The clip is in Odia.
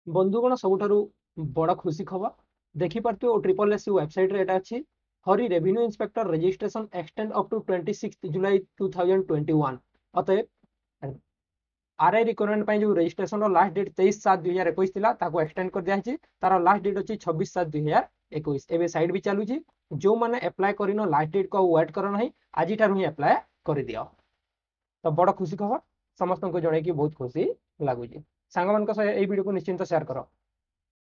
ବନ୍ଧୁଗଣ, ସବୁଠାରୁ ବଡ଼ ଖୁସି ଖବର ଦେଖିପାରୁଥିବେ ଓ ଟ୍ରିପଲ୍ ଏସ୍ ସି ୱେବସାଇଟ୍ରେ ଏଇଟା ଅଛି। Hari revenue inspector registration extend up to 26 July 2021। ଅତଏବ ଆର୍ I recruitment ପାଇଁ ଯେଉଁ ରେଜିଷ୍ଟ୍ରେସନର ଲାଷ୍ଟ ଡେଟ୍ 23/7/2021 ଥିଲା, ତାକୁ ଏକ୍ସଟେଣ୍ଡ କରିଦିଆହେଇଛି। ତାର ଲାଷ୍ଟ ଡେଟ୍ ଅଛି 26/7/2021। ଏବେ ସାଇଟ୍ ବି ଚାଲୁଛି। ଯେଉଁମାନେ ଆପ୍ଲାଏ କରିନ, ଲାଷ୍ଟ ଡେଟ୍କୁ ଆଉ ୱେଟ୍ କର ନାହିଁ, ଆଜିଠାରୁ ହିଁ ଆପ୍ଲାଏ କରିଦିଅ। ତ ବଡ଼ ଖୁସି ଖବର ସମସ୍ତଙ୍କୁ ଜଣେଇକି ବହୁତ ଖୁସି ଲାଗୁଛି। ସାଙ୍ଗମାନଙ୍କ ସହ ଏଇ ଭିଡ଼ିଓକୁ ନିଶ୍ଚିନ୍ତ ସେୟାର କର।